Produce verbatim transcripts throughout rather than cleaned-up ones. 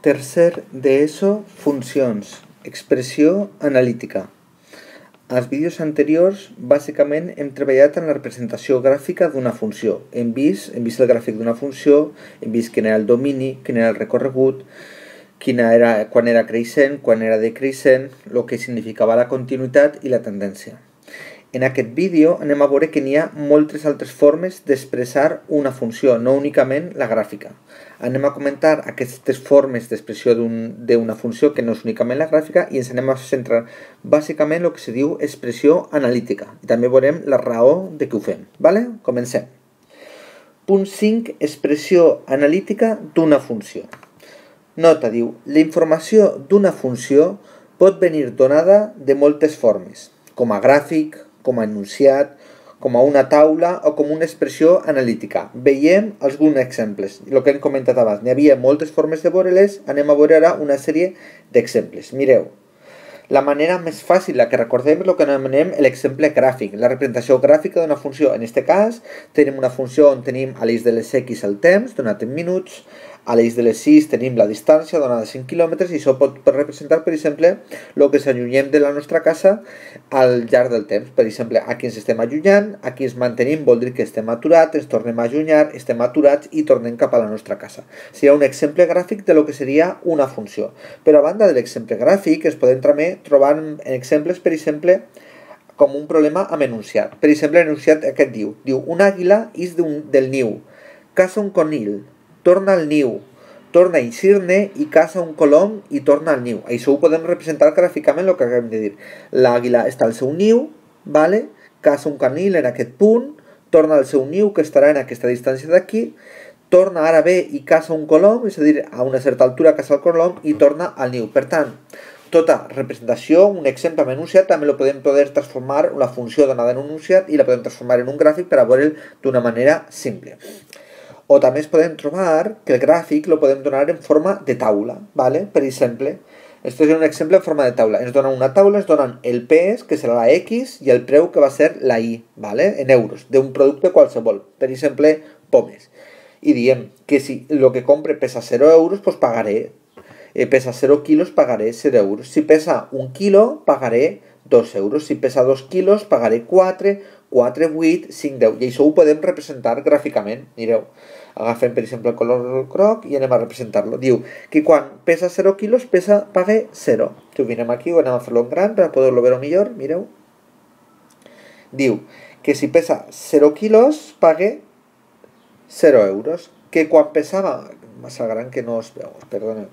Tercer d'ESO, funcions, expressió analítica. Als vídeos anteriors, bàsicament, hem treballat en la representació gràfica d'una funció. Hem vist, hem vist el gràfic d'una funció, hem vist quin era el domini, quin era el recorregut, quina era, quan era creixent, quan era decreixent, el que significava la continuïtat i la tendència. En aquest vídeo anem a veure que n'hi ha moltes altres formes d'expressar una funció, no únicament la gràfica. Anem a comentar aquestes formes d'expressió d'una funció que no és únicament la gràfica i ens anem a centrar bàsicament en el que se diu expressió analítica. I també veurem la raó de què ho fem. Vale? Comencem. Punt cinc. Expressió analítica d'una funció. Nota, diu, la informació d'una funció pot venir donada de moltes formes, com a gràfic, com a enunciat, com a una taula o com una expressió analítica. Veiem alguns exemples. El que hem comentat abans, n'hi havia moltes formes de veure-les, anem a veure ara una sèrie d'exemples. Mireu, la manera més fàcil, la que recordem, és el que anomenem l'exemple gràfic, la representació gràfica d'una funció. En aquest cas, tenim una funció on tenim a l'eix de les X el temps, donat en minuts, a l'eix de les sis tenim la distància donada a cinc quilòmetres i això pot representar, per exemple, el que s'allunyem de la nostra casa al llarg del temps. Per exemple, aquí ens estem allunyant, aquí ens mantenim, vol dir que estem aturats, ens tornem a allunyar, estem aturats i tornem cap a la nostra casa. Seria un exemple gràfic de lo que seria una funció. Però a banda de l'exemple gràfic, es podem també trobar en exemples, per exemple, com un problema amb enunciat. Per exemple, l'enunciat aquest diu, diu, un àguila ix del niu, caça un conill, torna al niu, torna a eixir-ne i caça un colom i torna al niu. Això ho podem representar gràficament el que acabem de dir. L'àguila està al seu niu, vale? Caça un conill en aquest punt, torna al seu niu que estarà en aquesta distància d'aquí, torna ara bé i caça un colom, és a dir, a una certa altura caça el colom i torna al niu. Per tant, tota representació, un exemple amb enunciat, també lo podem poder transformar una funció donada en un enunciat i la podem transformar en un gràfic per a veure'l d'una manera simple. O també es podem trobar que el gràfic lo podem donar en forma de taula, ¿vale? Per exemple, esto és un exemple en forma de taula. Ens donen una taula, ens donen el pes, que serà la X, i el preu, que va ser la Y, ¿vale? En euros, d'un producte qualsevol. Per exemple, pomes. I diem que si el que compre pesa zero euros, pues pagaré. Eh, pesa zero quilos, pagaré zero euros. Si pesa un quilo, pagaré dos euros. Si pesa dos quilos, pagaré quatre, quatre, vuit, cinc, deu. I això ho podem representar gràficament. Mireu, agafem per exemple el color groc i anem a representar-lo. Diu que quan pesa zero quilos, pesa, pague zero. Si ho vinem aquí, ho anem a fer-lo en gran per poder-lo veure millor, mireu. Diu que si pesa zero quilos, pague zero euros. Que quan pesava, massa gran que no es veu, perdoneu.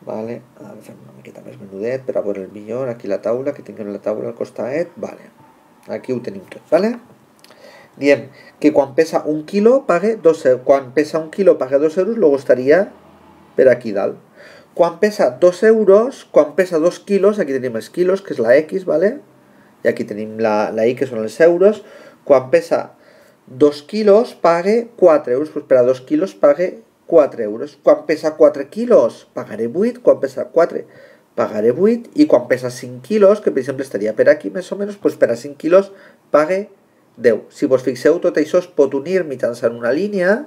Vale, ara fem una miqueta més menudet per a veure el millor, aquí la taula, que tinguem la taula al costadet, vale, aquí ho tenim tot, vale? Diem que quan pesa un quilo pague dos euros, quan pesa un quilo pague dos euros, luego estaria per aquí dalt. Quan pesa dos euros, quan pesa dos quilos, aquí tenim els quilos, que és la X, vale? I aquí tenim la, la Y, que són els euros. Quan pesa dos quilos pague quatre euros, pues per a dos quilos pague quatre euros. Quan pesa quatre quilos, pagaré vuit. Quan pesa quatre, pagaré vuit. I quan pesa cinc quilos, que per exemple estaria per aquí més o menys, pues per a cinc quilos pague deu. Si vos fixeu, tot això es pot unir mitjançant una línia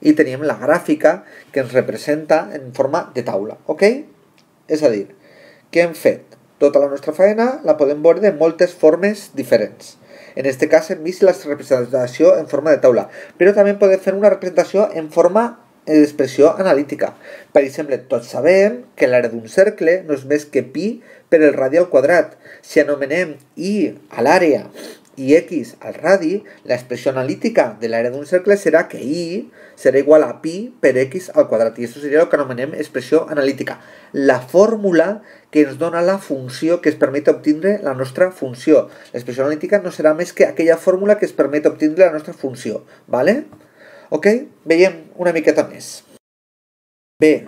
i tenim la gràfica que ens representa en forma de taula, ok? És a dir, què hem fet? Tota la nostra feina la podem veure de moltes formes diferents. En aquest cas hem vist la representació en forma de taula, però també podem fer una representació en forma d'expressió analítica. Per exemple, tots sabem que l'àrea d'un cercle no és més que pi per el radi al quadrat. Si anomenem i a l'àrea i x al radi, l'expressió analítica de l'àrea d'un cercle serà que i serà igual a pi per x al quadrat. I això seria el que anomenem expressió analítica. La fórmula que ens dona la funció que es permet obtindre la nostra funció. L'expressió analítica no serà més que aquella fórmula que es permet obtindre la nostra funció. Vale? Ok? Veiem una miqueta més. Bé,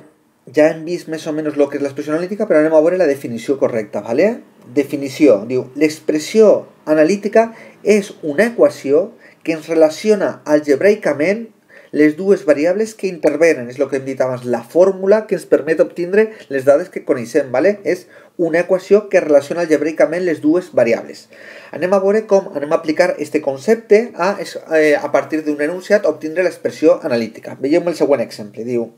ja hem vist més o menys el que és l'expressió analítica, però anem a veure la definició correcta, vale? Definició, diu, l'expressió analítica és una equació que ens relaciona algebraicament les dues variables que intervenen. És el que hem dit abans, la fórmula que ens permet obtindre les dades que coneixem, ¿vale? És una equació que relaciona algebraicament les dues variables. Anem a veure com anem a aplicar aquest concepte a, a partir d'un enunciat obtindre l'expressió analítica. Veiem el següent exemple. Diu,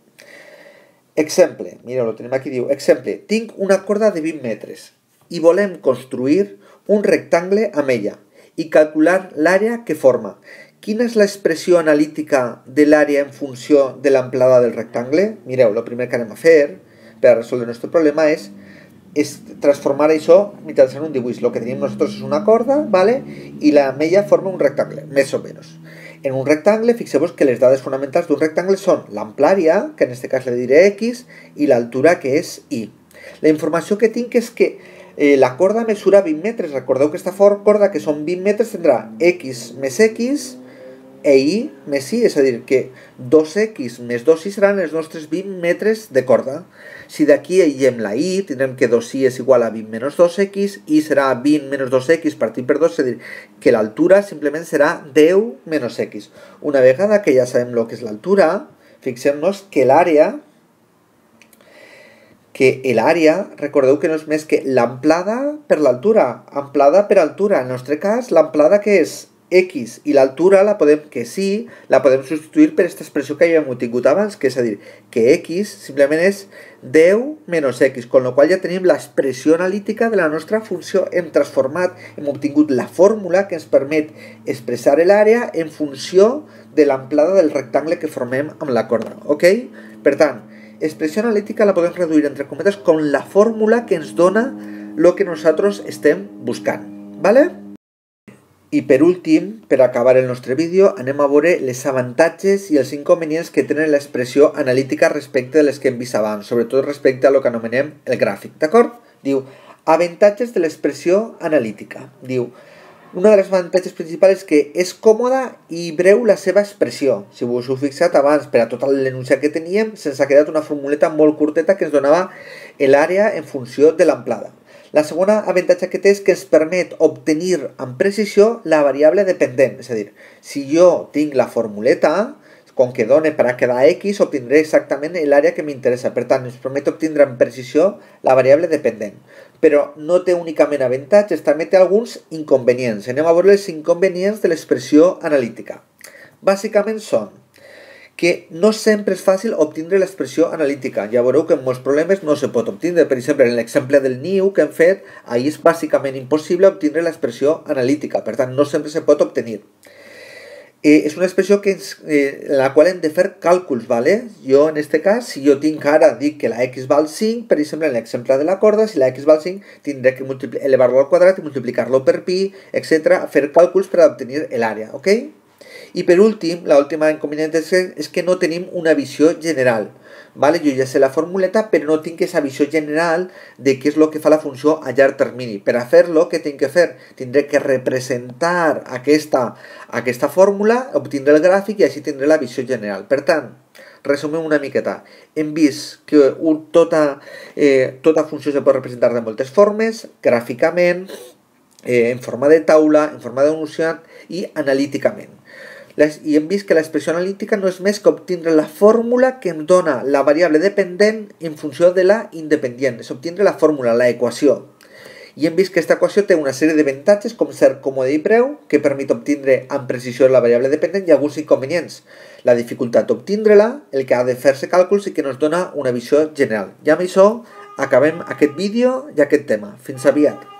exemple, mireu, lo tenim aquí, diu, exemple, tinc una corda de vint metres i volem construir un rectangle amb ella i calcular l'àrea que forma. Quina és l'expressió analítica de l'àrea en funció de l'amplada del rectangle? Mireu, el primer que anem a fer per a resoldre el nostre problema és, és transformar això mitjançant un dibuix. El que tenim nosaltres és una corda, ¿vale? I la amb ella forma un rectangle, més o menys. En un rectangle, fixeu-vos que les dades fonamentals d'un rectangle són l'amplària, que en aquest cas le diré X, i l'altura, que és Y. La informació que tinc és que Eh, la corda mesura vint metres. Recordeu que aquesta corda, que són vint metres, tindrà X més X e Y més Y, és a dir, que dos X més dos Y seran els nostres vint metres de corda. Si d'aquí aïllem la Y, tindrem que dos Y és igual a vint menys dos X, Y serà vint menys dos X partit per dos, és a dir, que l'altura simplement serà deu menys X. Una vegada que ja sabem el que és l'altura, fixem-nos que l'àrea que l'àrea, recordeu que no és més que l'amplada per l'altura, amplada per altura. En el nostre cas, l'amplada que és X i l'altura, la podem, que sí, la podem substituir per aquesta expressió que ja hem obtingut abans, que és a dir, que X simplement és deu menys X, amb la qual ja tenim l'expressió analítica de la nostra funció. Hem transformat, hem obtingut la fórmula que ens permet expressar l'àrea en funció de l'amplada del rectangle que formem amb la corda, ok? Per tant, expressió analítica la podem reduir entre cometes com la fórmula que ens dona el que nosaltres estem buscant, ¿vale? I per últim, per acabar el nostre vídeo, anem a veure les avantatges i els inconvenients que tenen l'expressió analítica respecte de les que hem vist abans, sobretot respecte a lo que anomenem el gràfic, d'acord? Diu, avantatges de l'expressió analítica. Diu, una de les avantatges principals és que és còmoda i breu la seva expressió. Si us heu fixat abans, per a tot l'enunciat que teníem, se'ns ha quedat una formuleta molt curteta que ens donava l'àrea en funció de l'amplada. La segona avantatge que té és que ens permet obtenir amb precisió la variable dependent. És a dir, si jo tinc la formuleta, com que dona per a quedar X, obtindré exactament l'àrea que m'interessa. Per tant, ens permet obtindre amb precisió la variable dependent. Però no té únicament avantatges, també té alguns inconvenients. Anem a veure els inconvenients de l'expressió analítica. Bàsicament són que no sempre és fàcil obtindre l'expressió analítica. Ja veureu que en molts problemes no se pot obtindre. Per exemple, en l'exemple del niu que hem fet, ahí és bàsicament impossible obtindre l'expressió analítica. Per tant, no sempre se pot obtenir. Eh, és una expressió que ens, eh, en la qual hem de fer càlculs, ¿vale? Jo, en este cas, si jo tinc ara, dic que la X val cinc, per exemple, en l'exemple de la corda, si la X val cinc, tindré que elevar-lo al quadrat i multiplicar-lo per pi, etcètera, fer càlculs per obtenir l'àrea, ok? I per últim, l'última inconvenient és que, és que no tenim una visió general. Vale? Jo ja sé la formuleta, però no tinc aquesta visió general de què és el que fa la funció a llarg termini. Per a fer-lo, què tinc que fer? Tindré que representar aquesta, aquesta fórmula, obtindré el gràfic i així tindré la visió general. Per tant, resumim una miqueta. Hem vist que un, tota, eh, tota funció se pot representar de moltes formes, gràficament, eh, en forma de taula, en forma d'enunciat i analíticament. I hem vist que l'expressió analítica no és més que obtindre la fórmula que em dona la variable dependent en funció de la independent. És obtindre la fórmula, la equació. I hem vist que aquesta equació té una sèrie d'avantatges com ser còmode i breu, que permet obtindre amb precisió la variable dependent, i alguns inconvenients. La dificultat d'obtindre-la, el que ha de fer-se càlculs i que ens dona una visió general. I amb això acabem aquest vídeo i aquest tema. Fins aviat.